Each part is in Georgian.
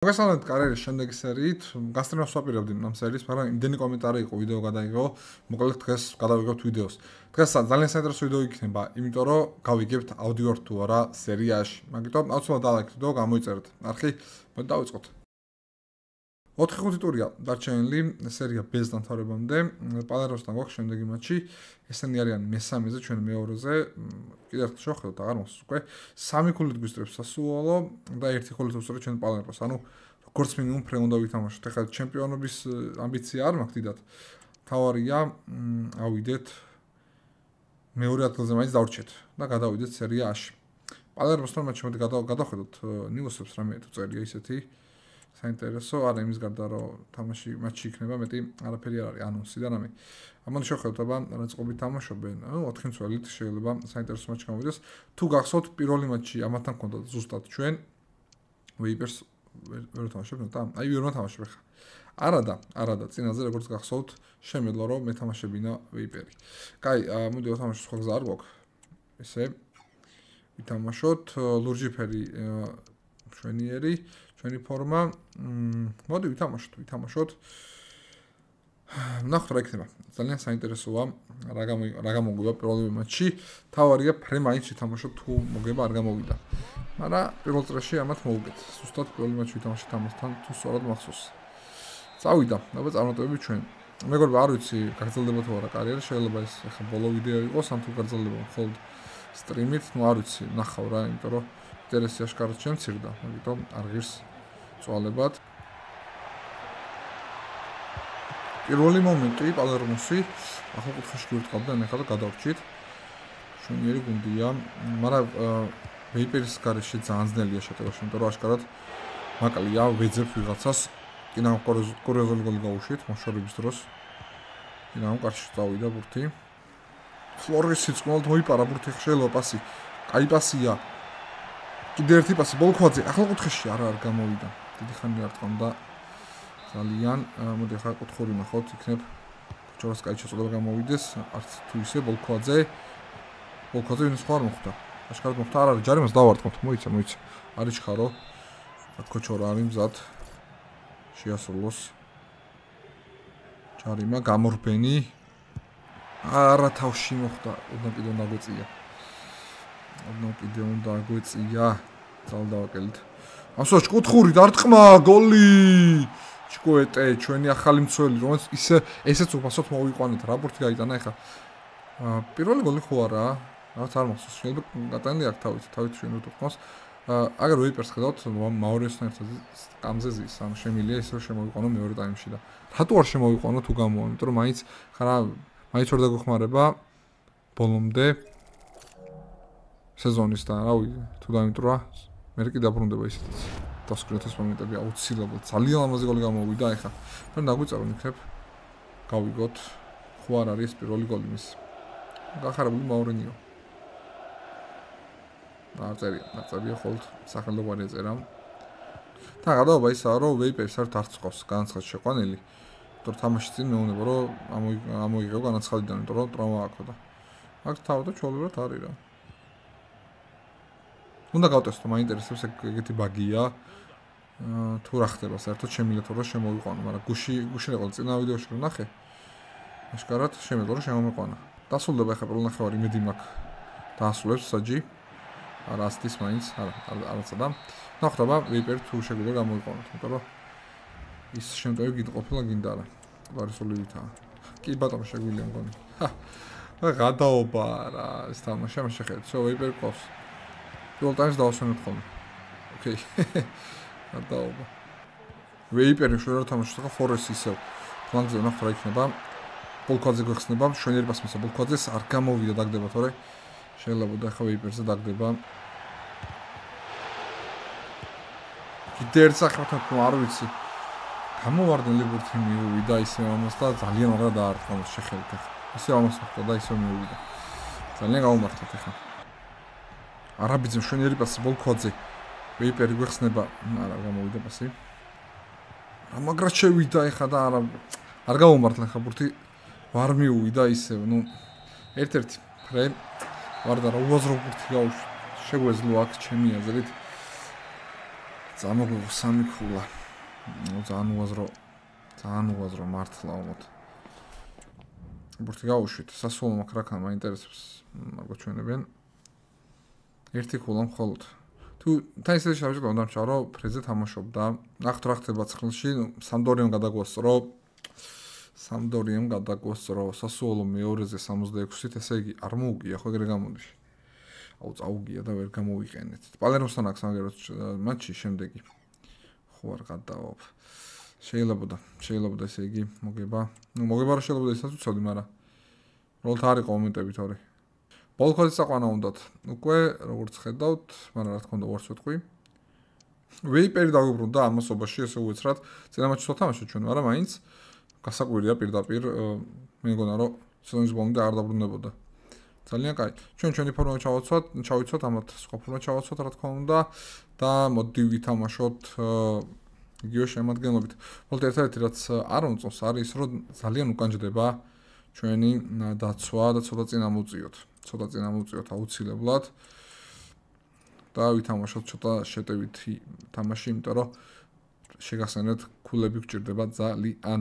მოგესალმებით კარიერის შემდეგი სერიით. გასტრენას ვაპირებდი ამ სერიას, მაგრამ იმდენი კომენტარი იყო, ვიდეო გადაიღო. მოკლედ დღეს გადავიღებთ ვიდეოს. დღეს ძალიან საინტერესო ვიდეო იქნება, იმიტომ რომ გავიგებთ აუდიო რთულ არა სერიაში. მაგიტომ აუცილებლად დალაიქეთ ვიდეო, გამოიწერეთ არხი. მოდი დავიწყოთ. 4-5 ტურია დარჩენილი სერია ბ-ს დამთავრებამდე. პალერმოსთან გვაქვს შემდეგი მატჩი. ესენი არიან მესამეზე, ჩვენ მეორეზე. კიდევ ერთხელ შევხედოთ, აღარ მოსწონს უკვე. 3 ქულით გვისწრებს სასუოლო და 1 ქულით უსწრებს ჩვენ პალერმოს. ანუ როგორც მინიმუმ ფრე უნდა ვითამაშოთ. ეხლა ჩემპიონობის ამბიცია არ მაქვს დიდად. თავარია ავიდეთ მეორე ადგილზე მაინც დავრჩეთ და გადავიდეთ სერია A-ში. პალერმოსთან მატჩი მოდი გადავხედოთ ნიუსებს რამე თუ წერია ისეთი საინტერესო, არა იმის გარდა რომ თამაში მატჩი იქნება, მეტი არაფერი არ არის ანონსი და რამე. ამან შევხედოთ აბა რა წყობით თამაშობენ. 4 მცველით შეიძლება საინტერესო მატჩი გამოვიდეს. თუ გახსოვთ პირველი მატჩი ამათთან ჰქონდა ზუსტად ჩვენ ვეიპერს ვერ თამაშობთ და აი ვერმა თამაშობ ხა. არადა წინაზე როგორც გახსოვთ შემეძლო რომ მეთამაშებინა ვეიპერი. კაი, მოდი ვთამაშოთ სხვა გზა არ გვაქვს. ესე ვითამაშოთ ლურჯიფერი შვენიერი ჩვენი ფორმა. მოდი ვითამაშოთ. ნახოთ რა იქნება. ძალიან საინტერესოა რა გამოგვივა პირველი მატჩი. თავარია ფრე მაინც ვითამაშოთ თუ მოგება არ გამოვიდა. მაგრამ პირველ წრეში ამათ მოუგეთ. ზუსტად პირველი მატჩი ვითამაშეთ ამასთან თუ სწორად მახსოვს. წავიდა, აბა წარმატებები ჩვენ. მეგობრებო, არ ვიცი, გაგრძელდება თუ არა კარიერა, შეიძლება ეს ახლა ბოლო ვიდეო იყოს, ან თუ გაგრძელდება მხოლოდ სტრიმით, ну არ ვიცი, ნახავ რა, იმიტომ რომ ინტერესი აშკარად შემცირდა, ამიტომ არ ღირს წვალებად. პირველი მომენტი პალერმოსი ახალ კუთხეში გვერდყავდა, ეხლა და გადავრჩით. შვენიერი გუნდია, მაგრამ ვეიპერის გარეშე ძალიან ძნელია შეტევაში, იმიტომ რომ აშკარად მაკლია ვეძებს ვიღაცას. კინამ კორეზული გოლი გაუშვით მოშორების დროს. კინამ კარში წავიდა ბურთი. ფლორესი წყმალთ მოიპარა ბურთი, შეიძლება პასი. კაი პასია. კიდე ერთი პასი ბოლქვაძე ახლა კუთხეში არ გამოვიდა. დიდი ხანი არ თქონდა ძალიან. მოდი ახლა კუთხური ნახოთ, იქნებ ჯორას კაი შეწოდება გამოვიდეს. არც თუ ისე ბოლქვაძე ვინც ხო არ მოხდა. აშკარად მოხდა, არ არის ჯარიმას დავარტყმოთ. მოიცა. არის ხარო. კოჩორა არის მზად. შეასრულოს ჯარიმა გამორბენი. არა თავში მოხდა, ოდნავ კიდე უნდა გვეწია. ძალდავაკელით. ამსოჩ კუთხური დარტყმა, გოლი! ჩკუეტე, ჩვენი ახალი მცველი, რომელიც ესეც უფასოდ მოვიყვანეთ. რა ბურთი გაიტანა ეხა. პირველი გოლი ხო არა? რაღაც არ მახსოვს. შეიძლება გატანილი აქვს თავით ჩვენ უთქვას. აგერ ვეიპერს ხედავთ, მაურიოსთან ერთად კამზე ზის, ანუ შემილია ისე რომ შემოვიყვანო მეორე ტაიმში და რატო არ შემოვიყვანო თუ გამოვა, იმიტომ რომ მაინც ვერ დაგეხმარება ბოლომდე სეზონის და რავი, თუ დამიტრა, მე კი დაბრუნდება ისეთიც. დასკრინოთის მომენტები აუცილებლად ძალიან ლამაზი გოლი გამოვიდა ეხა. მე დაგვიწერო იქნებ გავიგოთ, ხო არ არის პირველი გოლი მის. გახარებული მაურინიო. არწერია ხოლმე სახელოვანი ეწერა. და გადაობა ისაა რომ ვეიპერს არ თარცხავს განაცხად შეყვანილი. იმიტომ რომ თამაში წინ მეუბნება რომ ამოიღო განაცხადიდან, იმიტომ რომ ტრავმა აქვს და აქ თავდა ჩაოლებრად არის რა. უნდა გავტესტო, მაინტერესებს ეგეთი ბაგია. თუ რა ხდება საერთოდ შემიძლია რომ შემოვიყვანო, მაგრამ გუში იყო წინა ვიდეოში რომ ნახე. აშკარად შემიძლია რომ შემომიყვანა. დასრულდება ახლა პირველ ნახევარი იმედი მაქვს. დაასრულებს საჯი. არასტის მაინც, არაცა და ნახოთ აბა ვეიპერი თუ შეგვიძლია გამოიყვანოთ, იმიტომ რომ ის შემტევი გინდა გინდა რა. ვარისოლივითაა. კი ბატონო შეგვიძლია მგონი. გადაობა რა, ეს თამაში ამ შეხედეთ. всё ვეიპერი ყავს. პირველ ტაიმს დავასვენოთ ხოლმე. ოკეი. გადაობა. ვეიპერი შეიძლება თამაშობს ახლა ფორესი ისევ. ფლანგზე ნახოთ რა იქნება. ბოლქვაძე გვეხსნება, შვენიერი პასი მისცა ბოლქვაძეს არ გამოვიდა დაგდება თორე შეიძლება და ახლა ვეიპერზე დაგდება. კიდე ერთ სახელთან თუ არ ვიცი. გამოვარდნილი ბურთი მიუვიდა ისე ამას და ძალიან არა დაარტყმა შეხედეთ ახლა. ისე ამას ხდა და ისე მიუვიდა. ძალიან გაუმართლეთ ახლა. არაბიძე შვენიერი პასი ბოლქვაძე. ვეიპერი გვეხსნება, არა გამოვიდა პასი. მაგრამ შევიდა ახლა და არ გაუმართლა ახლა ბურთი ვარ მიუვიდა ისე, ერთ-ერთი ფრე ვარ და რა უაზრო ბურთი გაუშვი. შეგვეძლო აქ ჩემი აზრით Замოგვიღო 3 ქულა. ძალიან უაზრო მართლა უმოთ. ბურთი გაუშვით. სასულო მაქრაკან მაინტერესებს. მაგო ჩვენებენ. ერთი ქულა მხოლოდ. თუ თაისე შევჭდა უნდა ჩარო ფრეზე თამაშობდა. ნახეთ რა ხდება ცხლში, სამდორიამ გადაგვასწრო. სასულო მეორეზე 66-ით, ესე იგი არ მოუგია, ხო ეგრე გამოდის. აუ წაუგია და ვერ გამოვიყენეთ. პალერმოსთან აქვს მაგეროთ მატჩი შემდეგი. ხო არ გადავალ. შეიძლება ესე იგი მოგება. მოგება რა შეიძლება ისაც უცოდი, მაგრამ როლთ არ იყო მომენტები თორე. ბოლქოძის აყვანა უნდათ. უკვე როგორც ხედავთ, მაგრამ რა თქმა უნდა ვარც ვეთქვი. ვეიპერი დაგვიბრუნდა ამასობაში, ესე უეცრად. წინა მატჩს ვთამაშეთ ჩვენ, მაგრამ მაინც გასაკვირია პირდაპირ მე მგონა რომ სეზონის ბოლომდე არ დაბრუნდებოდა. ძალიან კაი. ჩვენი ფორმა ჩავიცვათ, ამათ სხვა ფორმა ჩავაცვათ, რა თქმა უნდა და მოდი ვითამაშოთ იგივე შემადგენლობით. მოდი ერთადერთი რაც არ მომწონს არის ის, რომ ძალიან უკანჯდება ჩვენი დაცვა და ცოტა წინ ამოვწიოთ აუცილებლად. და ვითამაშოთ ცოტა შეტევითი თამაში, იმიტომ რომ შეგახსენეთ ქულები გჭირდება ძალიან.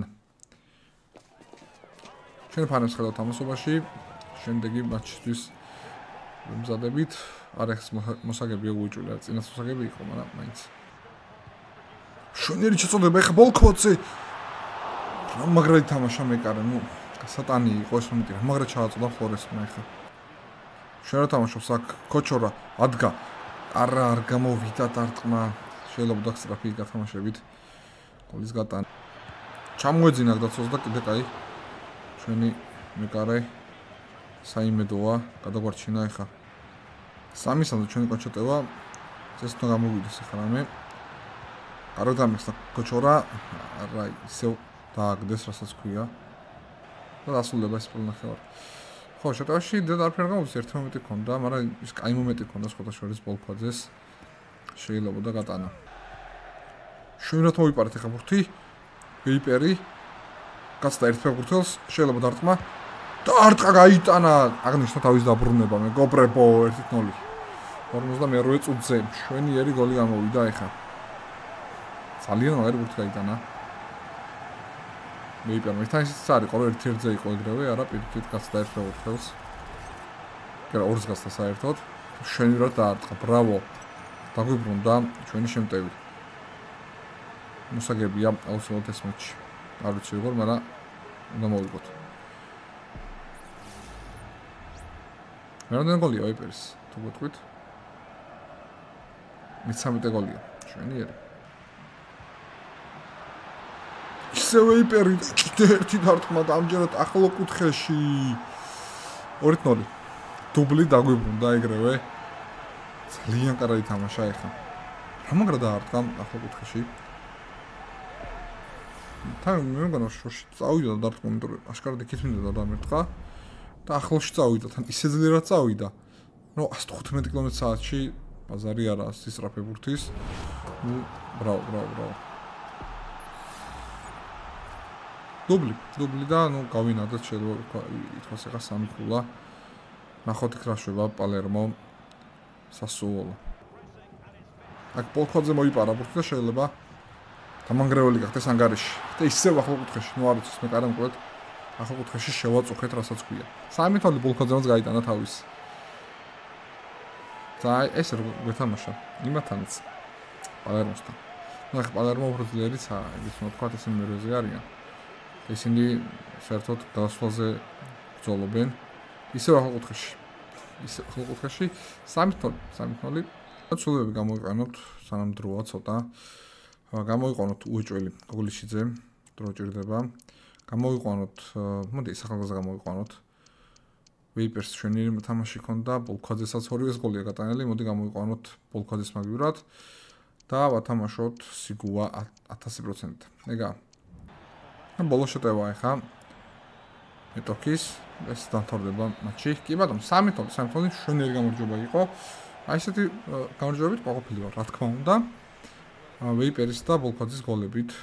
ჩვენ ფანებს ხედავთ ამასობაში. შემდეგი მატჩისთვის მზადებით. არახს მოსაგებია უიჭვლა, წინას მოსაგები იყო, მაგრამ მაინც. შენერი შეწოდება ეხა ბოლქოძე. მაგრად თამაშა მეკარე, სატანი იყო ეს მომენტი, მაგრად ჩააწოდა ფლორესმა ეხა. შენ რა თამაშობს აქ კოჩორა ადგა. არ გამოვიდა დარტყმა. შეიძლება დაგსტრაფი გათამაშებით. გოლის გატანა. ჩამოეძინა დაცვას და კიდე კაი. ჩვენი მეკარე საიმედოა გადაგვარჩინა ეხა. 3-3 ჩვენი კონჩოტევა ეს თქო გამოვიდეს ეხა რამე. არ დამეხსნა კოჩორა რა ისევ დააგდეს რასაც ქვია. და დასრულება ეს პრონახევარ. ხო, შეტევაში დედაფერ გამოდის ერთი მომენტი ქონდა, მაგრამ ის კაი მომენტი ქონდა სხვათა შორის ბოლქოძეს შეიძლება და გატანა. შუინათ მოვიპარეთ ეხა ბურთი. ვეიპერი გასდა ერთ ფეხბურთელს, შეიძლება დარტყმა. დარტყა გაიტანა, აღნიშნა თავის დაბრუნება, მეგობრებო 1-0. 52 წუთზე შვენიერი გოლი გამოვიდა ეხა. ძალიან მაგარი ბურთი გაიტანა. ვეიპერმა თან ისიც არის, ყოველ ერთ-ერთზე იყო ეგრევე, არა პირიქით გასდა ერთ ფეხბურთელს. კერა ორს გასდა საერთოდ. შვენივრად დაარტყა, ბრავო. დაგვიბრუნდა ჩვენი შემტევი. მოსაგებია აუცილებლად ეს მატჩი. არ ვიცი როგორ, მაგრამ უნდა მოვიგოთ. მერამდენ გოლია ვეიპერის, თუ გეტყვით. 13 გოლია, შვენიერი. ისე ვეიპერი კიდე ერთი დარტყმა და ამჯერად ახლო კუთხეში 2-0. დუბლი დაგვიბრუნდა ეგრევე. ძალიან კარგი თამაშა ეხა. რა მაგრა დაარტყა ახლო კუთხეში. თან მე მგონა შოში წავიდა და დარტყმა, იმიტომ რომ აშკარად იქით მინდოდა დამერტყა და ახლოში წავიდა, თან ისე ძლიერად წავიდა. 115 კმ/სთ-ში ბაზარი არა სისწრაფე ბურთის. ბრავო. დუბლი და გავინადეთ შეიძლება ითქვას ეხა 3 ქულა. ნახოთ იქ რა შვება პალერმო სასულო. აქ ბოლქოძე მოიპარა ბურთი და შეიძლება დამანგრეველი გახდეს ანგარიში. და ისევ ახლო კუთხეში, არ ვიცი, მე კარგად მკვეთ. ახლო კუთხეში შევაწუხეთ რასაც ქვია. 3-0 ბოლქოძემაც გაიტანა თავის. და ეს როგორ გეთამაშა იმათანაც პალერმოსთან. ახლა პალერმო უფრო ძლიერიცაა, ის თქვა ისინი მერვეზე არიან. ისინი საერთოდ დასვლაზე ბრძოლობენ. ისევ ახლო კუთხეში 3-0. ცულებები გამოიყენოთ სანამ დროა ცოტა. გამოიყენოთ უეჭველი გოგლიშიძე, დრო ჭირდება. გამოიყენოთ, მოდი სახალხოზე გამოიყენოთ. ვეიპერს შვენიერი თამაში ქონდა, ბოლქოძესაც ორივეს გოლია გატანილი, მოდი გამოიყენოთ ბოლქოძეს მაგივრად და ვათამაშოთ სიგუა 1000%. ეგა. ბოლო შეტევა ეხა მეტოქის ეს დამთავრდება მატჩი. კი ბატონო 3-0 შვენიერი გამარჯვება იყო. აი ესეთი გამარჯვებებით ყოფილი ვარ, რა თქმა უნდა. ვეიპერის და ბოლქოძის გოლებით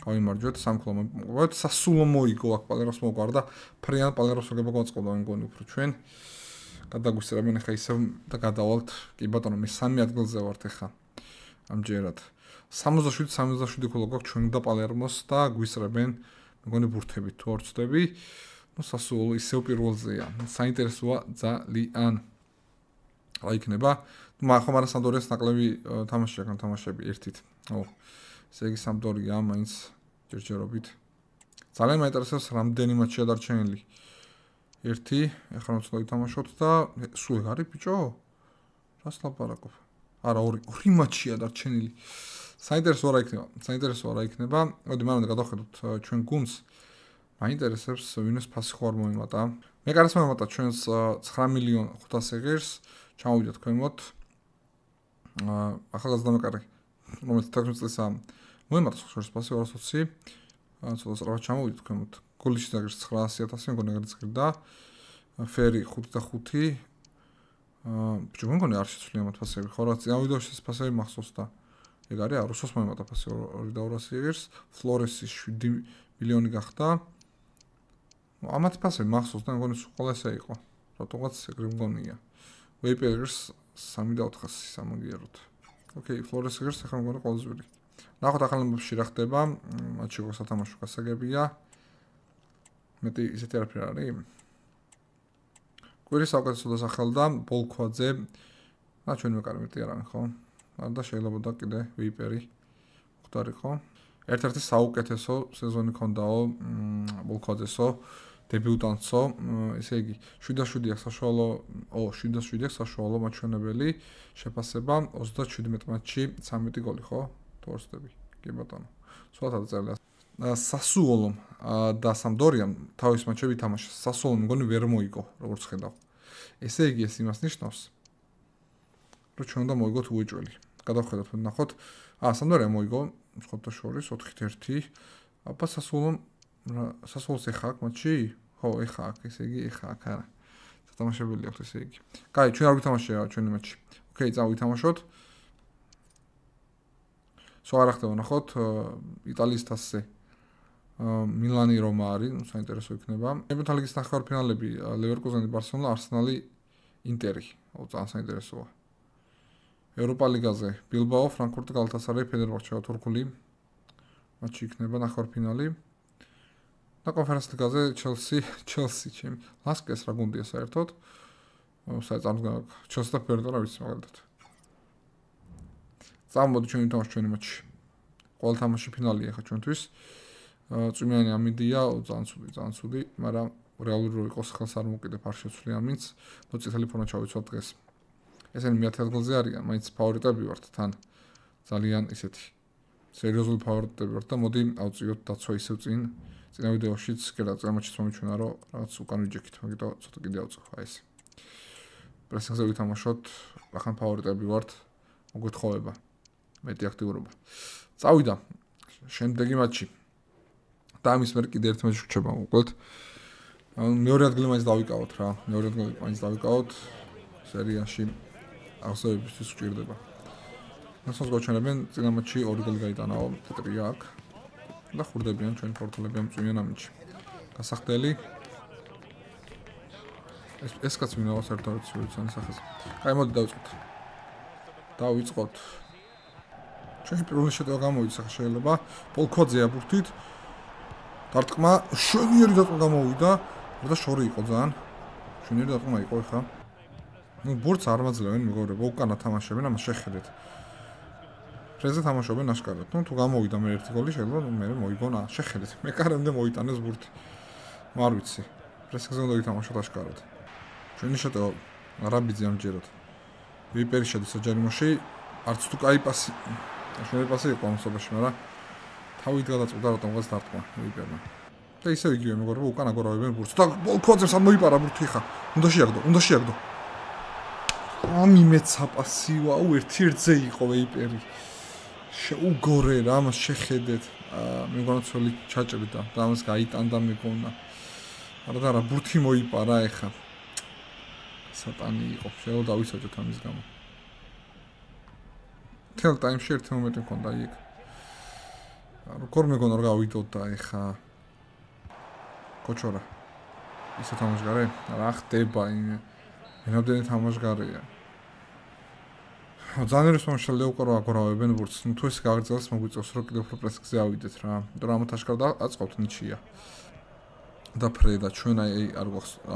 გავიმარჯვეთ 3-0 მოგყვეთ. სასულო მოიგო აქ პალერმოს მოგვარდა. ფრიან პალერმოს მოგება გვაწყობა მეგონი უფრო ჩვენ. გადაგვისწრებენ ეხა ისევ და გადავალთ. კი ბატონო მე 3 ადგილზე ვართ ეხა. ამჯერად 67 ქულა გვაქვს ჩვენ და პალერმოს და გვისრებენ მეგონი ბურთებით თუ არ ვცდები. ნუ სასუოლო ისევ პირველზეა. საინტერესოა ძალიან. რა იქნება? ხომ არა სამდორიას ნაკლები თამაში აქ თამაშები ერთით. ო, ესე იგი სამდორია მაინც ჯერჯერობით. ძალიან მაინტერესებს რამდენი მატჩია დარჩენილი. ერთი, ახლა რომ ცოტა ვითამაშოთ და სულ ეგ არის ბიჭო? რას ლაპარაკობ? არა, ორი მატჩია დარჩენილი. საინტერესოა რა იქნება. მოდი მანამდე გადავხედოთ ჩვენ გუნდს. მაინტერესებს ვინოს ფასი ხო არ მოემატა. მე კარს მომატა ჩვენს 9,500,000 ღირს. ჩამოვიდეთ ქვემოთ. ახალგაზრდა მეკარე, რომელიც 16 წლისა მოემატა შორს ფასი 220. ცოტა სწრაფად ჩამოვიდეთ ქვემოთ. გოლიში დაგერს 900,000 მეგონი ეგრეთ წირდა. ფერი 5 და 5. ბიჭო მეგონი არ შეცვლია მათ ფასები. ხო რა წინავიდეოში ეს ფასები მახსოვს და ეგ არის რუსოს მოემატა ფასი 2,200 ღირს. ფლორესი 7 მილიონი გახდა. ამათ ფასები მახსოვს და მეგონი სულ ყველა ესე იყო. რატომღაც ეგრე მგონია. ვეიპერს 3 და 400 სამაგიეროთ. ოკეი, ფლორესი ღირს ახლა მგონი ყოველზვირი. ნახოთ ახალმებებში რა ხდება. მათში როგორ სათამაშო გასაგებია. მეტი ისეთი არაფერი არის. კვირის საუკეთესო დასახელდა ბოლქვაძე. ჩვენ მეკარე მეტი არ არის, ხო? არ და შეიძლება და კიდე ვეიპერი ხდარიყო. ერთ-ერთი საუკეთესო სეზონი ქონდაო ბოლქვაძესო, დებიუტანტსო, ესე იგი 7-7 საშუალო, 7-7 საშუალო მაჩვენებელი შეფასება 37 მატჩში 13 გოლი, ხო? თორსტები. კი ბატონო. სულაც წერია. სასუოლომ და სამდორიამ თავის მატჩები ითამაშა. სასუოლომ მგონი ვერ მოიგო, როგორც ხედავ. ესე იგი ეს იმას ნიშნავს, რომ ჩვენ უნდა მოიგოთ უეჭველი. გადავხედოთ, ნახოთ. სამდორიამ მოიგო, სხვათა შორის 4-1. აბა სასუოლს ეხა აქ მატჩი? ხო, ეხა აქ, ესე იგი ეხა აქ არა. სათამაშებელი აქვს ესე იგი. კაი, ჩვენ არ ვითამაშია ჩვენი მატჩი. ოკეი, წავითამაშოთ. სულ არ ხდება, ნახოთ, იტალიის თასზე. მილანი რომა არის, საინტერესო იქნება. ჩემპიონთა ლიგის ნახევარფინალები ლევერკუზენი, ბარსელონა, არსენალი, ინტერი. ძალიან საინტერესოა. ევროპა ლიგაზე ბილბაო, ფრანკფურტი, გალათასარაი, ფენერბაჰჩე, თურქული მატჩი იქნება ნახევარფინალი. და კონფერენს ლიგაზე ჩელსი, ჩემი ლასკეს რა გუნდია საერთოდ. საერთოდ ჩელსი და ფერნანდო რა ვიცი მაგალითად. წამოდი ჩვენ ვითამაშოთ ჩვენი მატჩი. ყოველ თამაში ფინალია ხა ჩვენთვის. წვიმიანი ამინდია, ძალიან ცუდი, მაგრამ რეალური რო იყოს ხელს არ მოკიდებ არ შეცვლი ამინც. ნუ წითელი ფორმა ჩავიცვალ დღეს. ესენი მე-10 ადგილზე არიან, მაინც ფავორიტები ვართ თან. ძალიან ისეთი სერიოზული ფავორიტები ვართ და მოდი ავწიოთ დაცვა ისევ წინა ვიდეოშიც, კიდევ წამოჩით მომიჩვენა რომ რაღაც უკან ვიჯექით, მაგრამ ცოტა კიდე ავწევ აი ეს. პრესინგზე ვითამაშოთ, ახან ფავორიტები ვართ, მოგეთხოვება. მეტი აქტიურობა. წავიდა შემდეგი მატჩი. და ამის მერე კიდე ერთი მატჩი რჩება მოკლედ. მეორე ადგილი მაინც დავიკავოთ რა. მეორე ადგილი მაინც დავიკავოთ სერიაში აღზევებისთვის გვჭირდება. მასოს გვაჩვენებენ წინა მატჩი 2 გოლი გაიტანაო, ტეტრია აქ. და ხურდებიან ჩვენ პორტულები ამ წვიმიან ამინჩი. გასახდელი. ეს კაც მინაოს ერთად ცუცანის სახეზე. აი მოდი დავიწყოთ. ჩვენი პირველი შეტევა გამოვიდა სახე შეიძლება. პოლქვაძეა ბურთით. დარტყმა, შვენიერი დარტყმა გამოვიდა. და შორი იყო ძალიან. შვენიერი დარტყმა იყო ხა. ნუ ბურთს არ მაძლევენ მეგობრებო, უკანა თამაშობენ, ამას შეხედეთ. ფრეზე თამაშობენ აშკარად. ნუ თუ გამოვიდა მე ერთი გოლი შეიძლება მე მოიგონა. შეხედეთ. მე კარემდე მოიტანეს ბურთი. არ ვიცი. პრესინგზე უნდა ვითამაშოთ აშკარად. ჩვენი შეტევა არაბიძე ამჯერად. ვიპერი შედის საჯარიმოში. არც თუ კაი პასი. შვენი პასი იყო ამ სოფაში, მაგრამ თავით გადაწყვიტა რატომღაც დარტყმა ვიპერმა. და ისევ იგივე მეგობრებო, უკან აგორავებენ ბურთს. და ბოლქვაძეს არ მოიპარა ბურთი ხა. უნდა შეაგდო. ამიმეცა პასი, ვაუ, ერთ-ერთზე იყო ვიპერი. შეუგორე რა, მას შეხედეთ. მე მგონა ცოლი ჩაჭრიდა და ამას გაიტანდა მეგონა. არა, ბურთი მოიპარა ეხა. სატანი იყო. შეიძლება დავისაჯოთ ამის გამო. თელ ტაიმში ერთი მომენტი მქონდა იქ. როგორ მეგონა რა გავიდოდა ეხა. კოჩორა. ისე თამაშგარე? რა ხდება იმ? მენამდენი თამაშგარეა. ძალიან რესპონს შეიძლება უყურო აგორავებენ ბურთს. ნუ თუ ეს გაგრძელდეს მოგვიწევს რომ კიდევ უფრო პრესზე ავიდეთ რა. იმიტომ რომ ამათ აშკარად აწყობთ ნიჩია. და ფრედა ჩვენ აი არ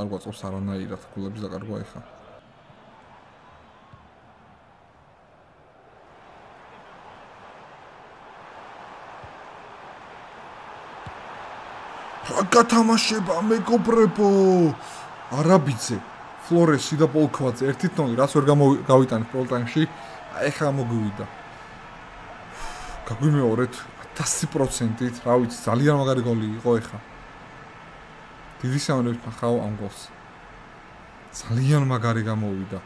გვაწყობს არანაირად გულების დაკარგვა ეხა. გათამაშება მეგობრებო. არაბიძე, ფლორესი და პოლქვაძე 1-0 რაც ვერ გავიტანეთ პროლ ტაიმში. ეხლა მოგვივიდა. გაგვიმეორეთ 1000%-ით, რა ვიცი, ძალიან მაგარი გოლი იყო ეხლა. დიდი სამონებით ნახავ ამ გოლს. ძალიან მაგარი გამოვიდა.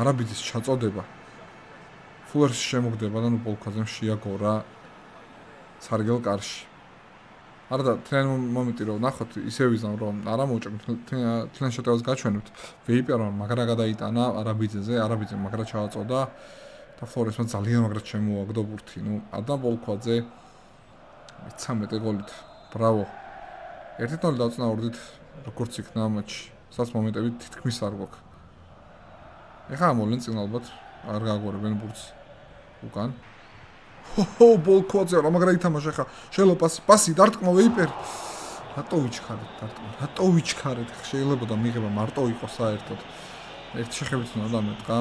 არაბიძის ჩაწოდება. ფლორესი შემოგდება და ნუ პოლქვაძემ შეაგორა სარგელ კარში. არა და თან მომენტი რომ ნახოთ ისე ვიზამ რომ არა მოუჭრით თან შეტევას გაჩვენებთ ვეიპერმა მაგრა გადაიტანა არაბიძეზე არაბიძე მაგრა ჩააწოდა და ფლორესმა ძალიან მაგრა შემოაგდო ბურთი ნუ ადამ პოლქვაძე 13 გოლით ბრავო 1-0 დავწნაურდით როგორც იქნა მატჩი სადაც მომენტები თითქმის არ გვაქვს ეხლა მოლენ წინ ალბათ არ გააგორებენ ბურთს უკან ჰო პოლქვაძე რა მაგრა ითამაშა ხა შეიძლება პასი დარტყმა ვეიპერ რატო ვიჩქარეთ შეიძლება და მიღება მარტო იყოს საერთოდ ერთ შეხებით უნდა დამეტყა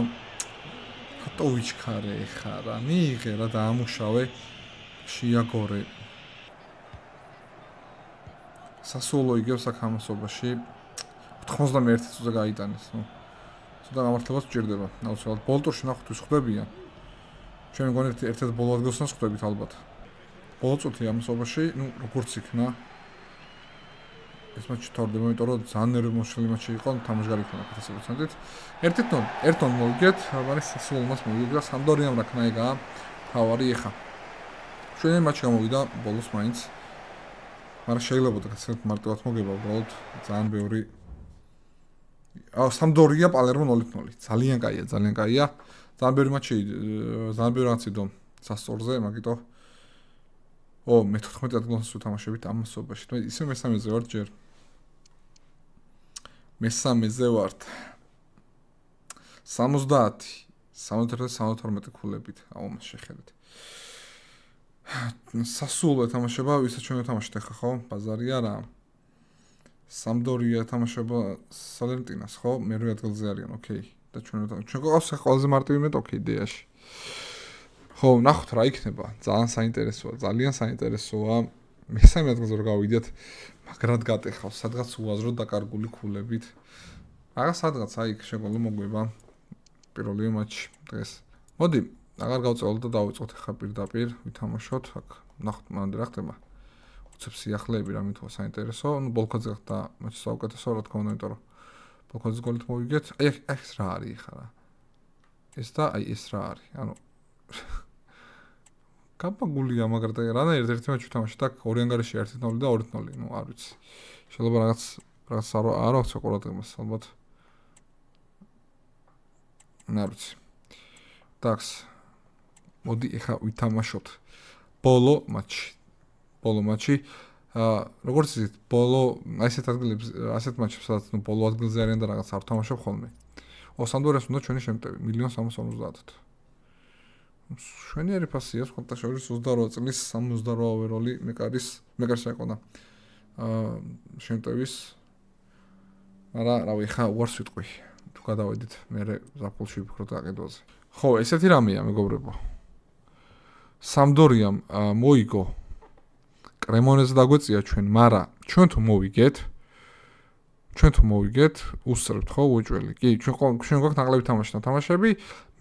რატო ვიჩქარე ხა რა მიიღე რა და ამუშავე შეაგორე სასულო იგებს აქ ამასობაში 91 წუთზე გაიტანეს ნუ ცოტა გამართლებას უჭირდება აუცილებლად ბოლტურში ნახოთ ის ხვდებიან ჩვენ მგონი ერთ-ერთ ბოლო ადგილსაც ხვდებით ალბათ. ბოლო წუთი ამასობაში, ნუ როგორც იქნა ეს მატჩი თორდება, იმიტომ რომ ძალიან ნერვმოშლი მატჩი იყო, თამაშგარი იქნა 100%-ით. 1-0 მოვიგეთ, მაგრამ სასულმას მოვიგეთ, სამდორიამ რა ქნაიგა, თავარი ეხა. ჩვენი მატჩი გამოვიდა ბოლოს მაინც. მაგრამ შეიძლება და გასცემთ მარტივად მოგება, უბრალოდ ძალიან ბევრი სამდორია პალერმო 0-0. ძალიან კაია, ძალიან კაია. ძალიან ბევრი მატჩი, ძალიან ბევრი რაცი დო სასწორზე, მაგიტო მე 14 ადგილას ვთამაშებით ამ მასობაში. მე ისე მესამეზე ვარ ჯერ. მესამეზე ვარ. 70, 71-72 ქულებით, ამას შეხედეთ. სასულო თამაშება, ვისაც ჩვენ ვთამაშეთ ახლა ხო? ბაზარი არა. სამდორია თამაშება სალერნტინას ხო? მერვე ადგილზე არიან, ოკეი. და ჩვენ გვყავს ყველაზე მარტივი მეტოქი იდეაში. ხო, ნახოთ რა იქნება. ძალიან საინტერესოა. მესამე ადგილზე რომ გავიდეთ, მაგრად გატეხავს, სადღაც უაზრო დაკარგული ქულებით. აღარ სადღაც აი შეგოლო მოგვება პირველი მატჩი დღეს. მოდი, აღარ გავწევლოთ და დავიწყოთ ახლა პირდაპირ ვითამაშოთ. აქ ნახოთ მანამდე რა ხდება. უცებ სიახლეები რა მითქვა საინტერესო. ნუ ბოლქვაძე ხდა მატჩი საუკეთესო რა თქმა უნდა, იმიტომ რომ ბოლქვაძის გოლით მოვიგეთ. აი ეს რა არის ხა რა. ეს და აი ეს რა არის. ანუ კაპაგულია მაგრამ და რანაირად ერთი მატჩი ვთამაშეთ და ორი ანგარიში 1-0 და 2-0. ნუ არ ვიცი. შეიძლება რაღაც არ აქვს ყურადღებას ალბათ. არ ვიცი. დაქს. მოდი ეხა ვითამაშოთ. ბოლო მატჩი. როგორც იცით, ბოლო ასეთ ადგილებს, ასეთ მატჩებს, სადაც ნუ ბოლო ადგილზე არიან და რაღაც არ თამაშობ ხოლმე. სამდორიას უნდა ჩვენი შემტევი 1,350,000. შვენიერი ფასია, სხვათა შორის 28 წლის 68 ოვეროლი მეკარის ეყოლა. შემტევის. მაგრამ რავი, ხა უარს ვიტყვი. თუ გადავედით, მე ზაფხულში ვფიქრობ აყიდვაზე. ხო, ესეთი რამეა, მეგობრებო. სამდორიამ მოიგო კრემონეზე დაგვეწია ჩვენ, მაგრამ ჩვენ თუ მოვიგეთ, უსწრებთ ხო უეჭველი. კი, ჩვენ გვაქვს ნაკლები თამაშები,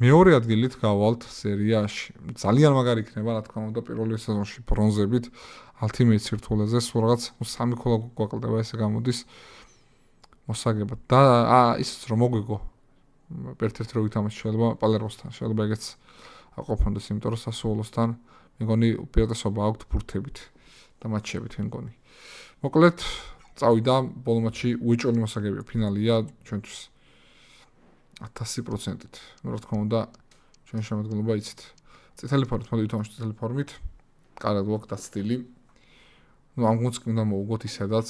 მეორე ადგილით გავალთ სერიაში. ძალიან მაგარი იქნება, რა თქმა უნდა, პირველი სეზონში ბრონზებით, Ultimate სირთულეზე, სულ რაღაც 3 ქულა გვაკლდება, ესე გამოდის მოსაგებად. და ისიც რომ მოგვიგო ერთ-ერთი რო ვითამაშე შეიძლება პალერმოსთან, შეიძლება ეგეც აყოფონდეს, იმიტომ რომ სასუოლოსთან მეგონი უპირატესობა აქვთ ბურთებით და მატჩებით მეგონი. მოკლედ წავიდა ბოლო მატჩი უეჭველი მოსაგებია, ფინალია ჩვენთვის 1000%-ით. რა თქმა უნდა, ჩვენ შემოდგენილობა იცით. წითელი ფორმით, მოდი ვითამაშოთ წითელი ფორმით. კარგად გვაქვს სტილი. ნუ ამ გუნდს უნდა მოუგოთ ისედაც,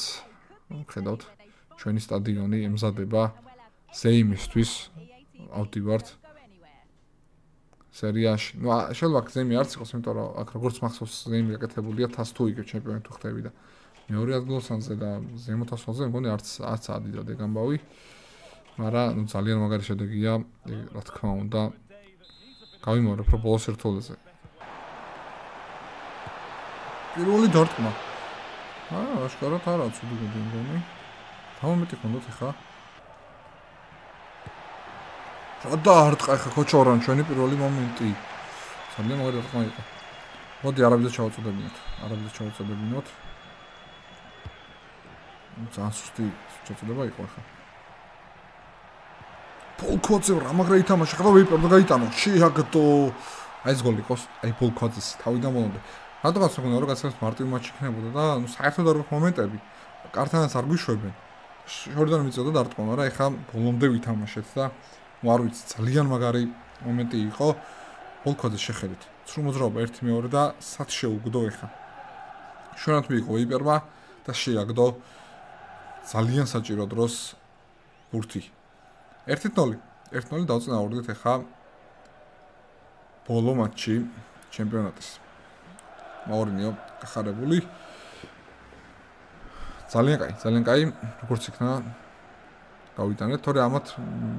ხედავთ, ჩვენი სტადიონი ემზადება ზეიმისთვის. ავდივართ. სერიაში. ნუ შეიძლება გზემი არც იყოს, იმიტომ რომ აქ როგორც მახსოვს გზემი გაკეთებულია თას თუ იგივე ჩემპიონი თუ ხდები და მეორე ადგილოსანზე და ზემოთ ასულზე მგონი არც ადიდად ეგ ამბავი. მაგრამ ნუ ძალიან მაგარი შედეგია, რა თქმა უნდა. გავიმეორებ რომ ბოლოს ერთოლეზე. პირველი დარტყმა. აშკარად არა ცუდი გოდი მგონი. გამომეტი ხონდოთ ხა. რა დაარტყა ხა ქოჩორან ჩვენი პირველი მომენტი. ძალიან მაგარი დარტყმა იყო. მოდი არაბიძე ჩავაწოდებინოთ. ძალიან სუსტი შეწოდება იყო ხა. პოლკოძე რა მაგრა ითამაშა ხა ვიპერ და გაიტანო. შეაგდო. აი ეს გოლი იყოს. აი პოლკოძეს თავიდან ბოლომდე. რატომაც მგონია რომ გასცემს მარტივი მატჩი იქნებოდა და ნუ საერთოდ არ გვაქვს მომენტები. კარტანაც არ გვიშვებენ. შორიდან მიწოდა დარტყმა, მაგრამ ეხა ბოლომდე ვითამაშეთ და ნუ არ ვიცი ძალიან მაგარი მომენტი იყო. პოლკოძეს შეხედეთ. სრულ მოძრაობა 1-2 და სად შეუგდო ეხა. შორად მიიღო ვიპერმა და შეაგდო ძალიან საჭირო დროს ბურთი. 1-0 დავწნაურდით ეხა ბოლო მატჩი ჩემპიონატის. მაურინიო გახარებული. ძალიან კაი, როგორც იქნა გავიტანეთ, თორე ამათ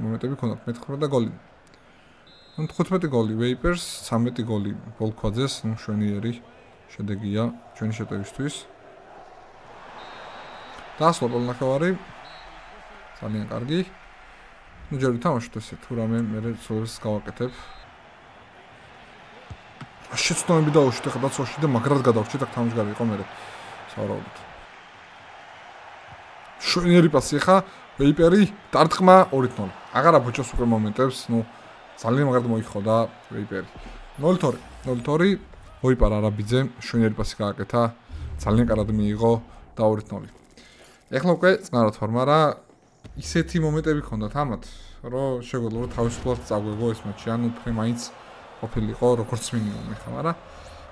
მომენტები ქონდათ მე-9 და გოლი. 15 გოლი ვეიპერს, 13 გოლი პოლკოძეს, ნუ შვენიერი შედეგია ჩვენი შეტევისთვის. დაასრულა პირველი ნახევარი. ძალიან კარგი. ნუ ჯერ ვითამაშოთ ესე, თუ რამე მე სულს გავაკეთებ. შეცდომები დაუშვით ახლა დაცვაში და მაგრად გადავრჩით აქ თამაშგარი იყო მე სავარაუდოდ. შვენიერი პასი ხა ვეიპერი დარტყმა 2-0. აღარა ბოჭოს უკვე მომენტებს, ნუ ძალიან მაგრად მოიხოდა ვეიპერი. 0-2 ვეიპარ არაბიძე შვენიერი პასი გააკეთა, ძალიან კარად მიიღო და 2-0. ეხლა უკვე წნარად ვარ, მაგრამ ისეთი მომენტები ჰქონდათ ამათ, რომ შეგვიძლია რომ თავისუფლად წაგვეგო ეს მატჩი, ანუ უფრო მაინც ყოფილიყო როგორც მინიმუმი ხა, მაგრამ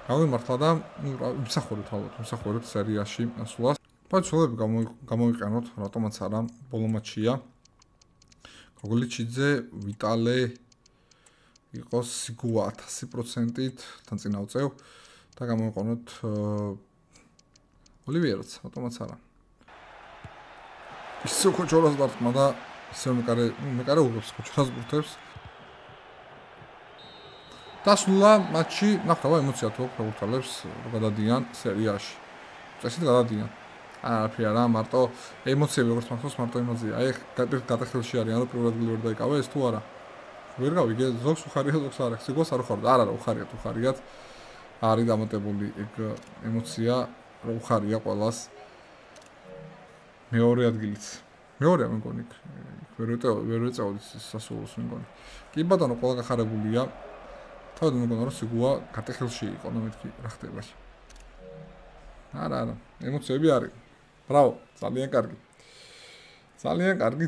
გავიმართლა და ვიმსახურებთ სერიაში ასვლას. პაცულები გამოვიყენოთ, რატომაც არა, ბოლო მატჩია. გოგოლიჩიძე, ვიტალე იყოს სიგუა 1000%-ით თან წინა უწევ და გამოვიყენოთ ოლივიეროც, რატომაც არა. ისე ქოჩორას დარტყმა და ისე მეკარე უღებს ქოჩორას ბურთებს. დასრულა მატჩი, ნახავ ემოცია თუ ფეხბურთელებს გადადიან სერიაში. წესით გადადიან. არაფერი არა, მარტო ემოციები როგორც მახსოვს, მარტო ემოცია. აი გადახელში არიან, რომ პირველად ვერ დაიკავე ეს თუ არა. ვერ გავიგე, ზოგს უხარია, ზოგს არა. სიგოს არ უხარდა. არა, უხარიათ. არის დამატებული ეგ ემოცია, რომ უხარია ყველას. მეორე ადგილიც. მეორეა მეგონი. ვერ ვეწეოდი სასულოს მეგონი. კი ბატონო, ყველა გახარებულია. თავად მეგონა რომ სიგუა გადახელში იყო, ნუ მეთქი რა ხდება. არა, ემოციები არის. ბრავო, ძალიან კარგი.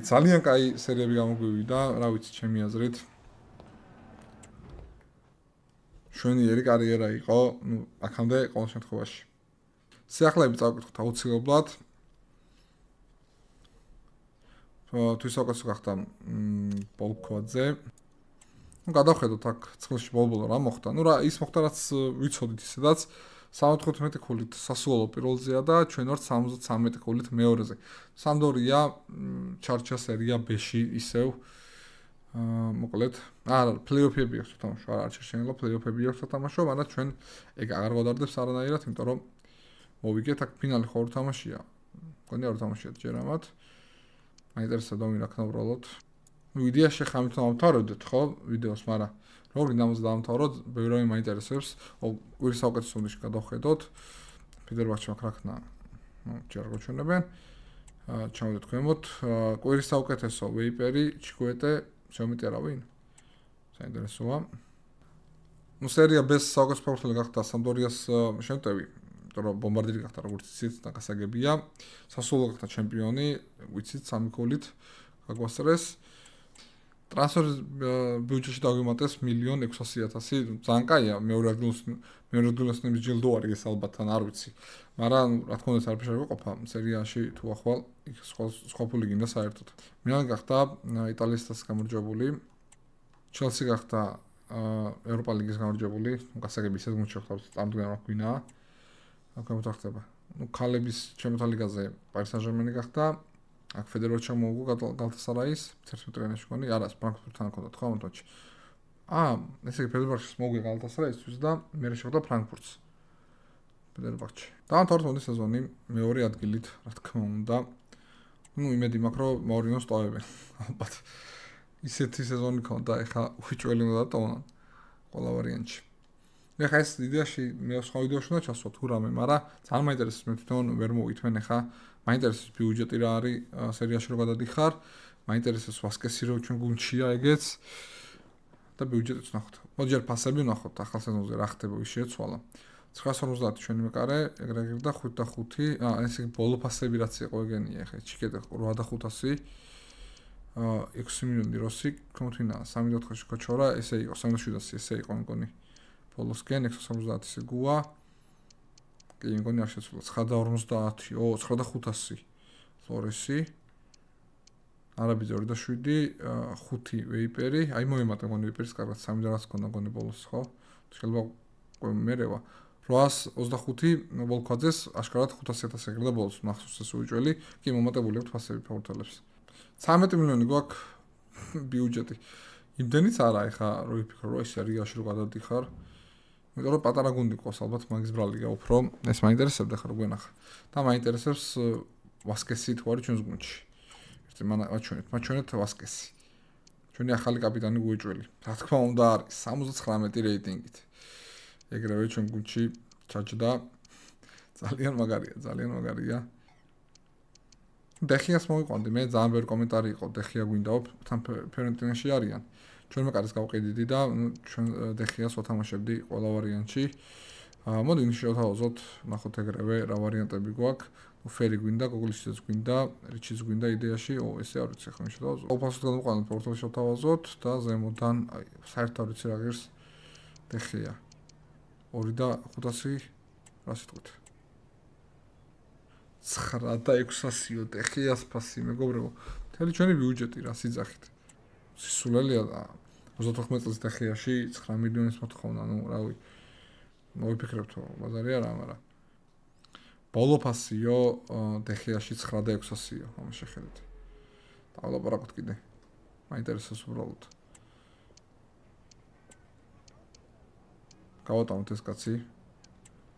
ძალიან კაი სერიები გამოგვივიდა, რა ვიცი, ჩემი აზრით. შვენიერი კარიერა იყო, ნუ აქამდე ყოველ შემთხვევაში. სიახლეები წავკითხოთ აუცილებლად. თვისაუქცე გახდა პოლკოძე. ნუ გადავხედოთ აქ წელში ბოლო რა მოხდა. ნუ რა ის მოხდა რაც ვიცოდით ისედაც 75 ქულით სასუოლო პირველზეა და ჩვენ ვართ 73 ქულით მეორეზე. სამდორია ჩარჩა სერია B-ში ისევ მოკლედ არა პლეიოფები აქვს თამაშო არა არჩენილა პლეიოფები აქვს თამაშო მაგრამ ჩვენ ეგ აღარ გავდარდებს არანაირად იმიტომ რომ მოვიგეთ აქ ფინალი ხო არ თამაშია მგონი არ თამაშია ჯერ ამათ მაინტერესებდა ვინ აქ ნავრალოთ ვიდეოში ხამით დავამთავრებდეთ ხო ვიდეოს მაგრამ როგორ გინდა დავამთავროთ ბევრი რამე მაინტერესებს ორი საუკეთესო უნდაში გადავხედოთ ფიდერბახში მაქრახნა ჯერ გაჩვენებენ ჩავდეთ ქვემოთ კვირის საუკეთესო ვეიპერი ჩიკვეტე შემიტი არა ვინ საინტერესოა ნუ სერია B-ს საუკეთესო ფეხბურთელი გახდა სამდორიას შემტევი იმიტომ რომ ბომბარდირი გახდა როგორც იცით და გასაგებია სასულო გახდა ჩემპიონი ვიცით 3 გოლით გაგვასწრეს ტრანსფერ ბიუჯეტში დავიმატეს 1,600,000 ძალიან კაია მეორე ადგილას ჯილდო არის ეს ალბათ თან არ ვიცი მაგრამ რა თქმა უნდა არაფერი არ ვიყოფა სერიაში თუ ახვალ სხვა ფული გინდა საერთოდ მილანი გახდა იტალიასთან გამარჯვებული ჩელსი გახდა ევროპა ლიგის გამარჯვებული, გასაგები ისეთ გუნდს შევხვდით, წამდგენმა გვინაა. აქ მოთახდება. ქალების ჩემპიონთა ლიგაზე პარი სან-ჟერმენი გახდა. აქ ფედეროვა ჩამოუგო გალათასარაის 11 ტრენერში მგონი, არა, ფრანკფურტთან ჰქონდა თქვა მომთვაში. ესე იგი ფედეროვის მოუგე გალათასარაისთვის და მე შევხვდა ფრანკფურტს. ფედეროვაში. დაამთავრა თონდის სეზონი მეორე ადგილით, რა თქმა უნდა. იმედი მაქვს, რომ მაურინოს ტოვებენ. ალბათ. ისეთი სეზონი ქონდა, ეხა უჩველი უნდა დატოვონ ყველა ვარიანტში. ეხა ეს იდეაში მე სხვა ვიდეოში უნდა ჩასვათ თუ რამე, მაგრამ ძალიან მაინტერესებს მე თვითონ ვერ მოვიტვენ ეხა. მაინტერესებს ბიუჯეტი რა არის სერიაში რო გადადიხარ, მაინტერესებს ვასკესი რო ჩვენ გუნდშია ეგეც და ბიუჯეტიც ვნახოთ. მოდი ჯერ ფასები ვნახოთ ახალ სეზონზე რა ხდება, ვის შეეცვალა. 950 ჩვენი მეკარე, ეგრეგ და 5 და 5. ესე იგი ბოლო ფასები რაც იყო ეგენია, ეხა ჩიკეტე 8 და 500. 6 მილიონი როსი, თუმცა 3.4-ში კოჩორა, ესე იყო 3.700, ესე იყო მგონი. ბოლოსკენ 670-ი გუა. კი, მგონი არ შეცვლა 9.50, 9.500. ფლორესი. არაბიძე 2.7, 5 ვეიპერი. აი მოემატა მგონი ვეიპერის კარგად 3 და რაც ქონდა მგონი ბოლოს, ხო? შეიძლება მერევა 825 ვოლქვაძეს აშკარად 500.000 ეგრე და ბოლოს მახსოვს ეს უჭველი, კი მომატებული აქვს ფასები ფაურთელებს. 13 მილიონი გვაქვს ბიუჯეტი. იმდენიც არა, ეხა რო ვიფიქრო, რომ ეს რიგაში რო გადადიხარ. იმიტომ რომ პატარა გუნდი ყავს ალბათ მაგის ბრალია უფრო. ეს მაინტერესებდა ხარ გვენახა. და მაინტერესებს ვასკესი თუ არის ჩვენს გუნდში. ერთი მაჩვენეთ ვასკესი. ჩვენი ახალი კაპიტანი გუეჭველი. რა თქმა უნდა არის 79 რეიტინგით. ეგრევე ჩვენ გუნდში ჩაჯდა. ძალიან მაგარია. დეხიას მოვიყვანდი, მე ძალიან ბევრი კომენტარი იყო, დეხია გვინდაო, თან ფერენტინაში არიან. ჩვენ მეკარეს გავყიდიდი და ჩვენ დეხიას ვათამაშებდი ყველა ვარიანტში. მოდი შევთავაზოთ, ნახოთ ეგრევე რა ვარიანტები გვაქვს. ფერი გვინდა, გოგლისიც გვინდა, რიჩიც გვინდა იდეაში, ესე არ ვიცი ხომ შევთავაზოთ. ოფასოდ გადავყვანოთ, პორტალში შევთავაზოთ და ზემოდან საერთოდ ვიცი რა ღირს დეხია. 2 და 500 რა სიტყვით? 9 და 600 დეხიას ფასი მეგობრებო. მთელი ჩვენი ბიუჯეტი რა სიძახით. სისულელია და 34 წელს დეხიაში 9 მილიონის მოთხოვნა, რავი. მოვიფიქრებთ, ბაზარი არა, მაგრამ ბოლო ფასიო დეხიაში 9 და 600-ია, ამ შეხედეთ. დავლაპარაკოთ კიდე. მაინტერესებს უბრალოდ. გავატანოთ ეს კაცი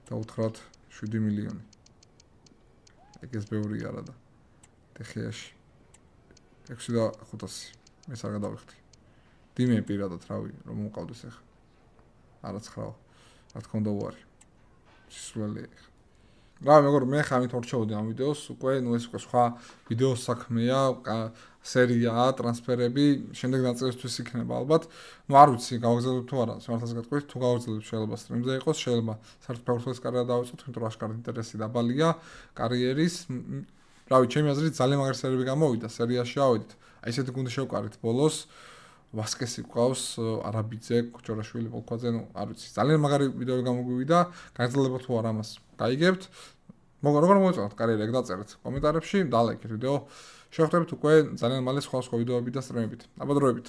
და უთხრათ 7 მილიონი. ეგეც ბევრი არა და დეხიაში 6 და 500. მე არ გადავიხდი. დიმე პირადად რავი, რომ მომყავდეს ახლა. არა 9. რა თქმა უნდა უარი. სისულელია. რა მეგობრებო, მე ხამით ორჩევდი ამ ვიდეოს, უკვე ეს უკვე სხვა ვიდეოს საქმეა, სერიაა, ტრანსფერები, შემდეგ ნაწილისთვის იქნება ალბათ. არ ვიცი, გავაგზავნებ თუ არა, სიმართლეს გეტყვით, თუ გავაგზავნებ შეიძლება სტრიმზე იყოს, შეიძლება საერთოდ ფეხბურთის კარიერა დავიწყოთ, იმიტომ რომ აშკარად ინტერესი დაბალია კარიერის. რავი, ჩემი აზრით ძალიან მაგარი სერიები გამოვიდა, სერიაში ავედით. აი ესეთი გუნდი შევკარით ბოლოს. ვასკესი ყავს, არაბიძე, კოჩორაშვილი, ვოლქვაძე, არ ვიცი. ძალიან მაგარი ვიდეოები გამოგვივიდა, გაგრძელებოთ თუ არა ამას. გაიგებთ. როგორ მოეწონათ კარიერა, ეგ დაწერეთ კომენტარებში, დალაიქეთ ვიდეო. შევხვდებით უკვე ძალიან მალე სხვა ვიდეოები და სტრიმებით. აბადროებით.